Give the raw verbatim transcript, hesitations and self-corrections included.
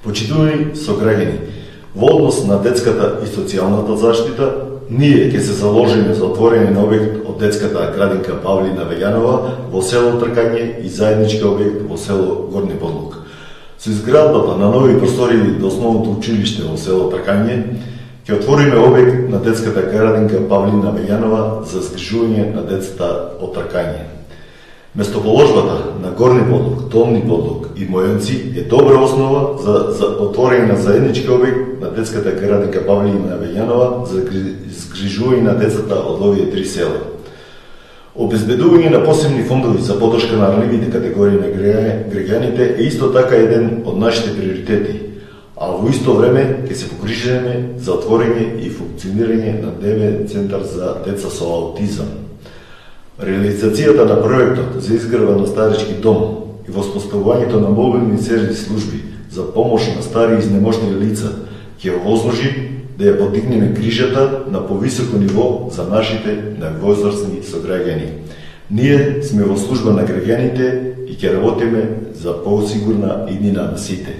Почитувани сограѓани, во однос на детската и социјалната заштита, ние ќе се заложиме за отворење на објект од детската градинка Павлина Вејанова во село Тркање и заеднички објект во село Горни Подлог. Со изградбата на нови простории до основното училиште во село Тркање, ќе отвориме објект на детската градинка Павлина Вејанова за згрижување на децата од Тркање. Местоположбата на Горни Подлог, Долни Подлог и Мојонци е добра основа за, за отворење на заеднички објект на детската градинка Павлина Вејанова за згрижување на децата од овие три села. Обезбедување на посебни фондови за поддршка на ранливите категории на граѓаните е исто така еден од нашите приоритети, а во исто време ќе се погрижиме за отворење и функционирање на ДВ центар за деца со аутизам. Реализацијата на проектот за изградба на старички дом и воспоставувањето на мобилни сервис служби за помош на стари и изнеможни лица ќе овозможи да ја подигнеме грижата на повисоко ниво за нашите највозрасни сограѓани. Ние сме во служба на граѓаните и ќе работиме за посигурна иднина на сите.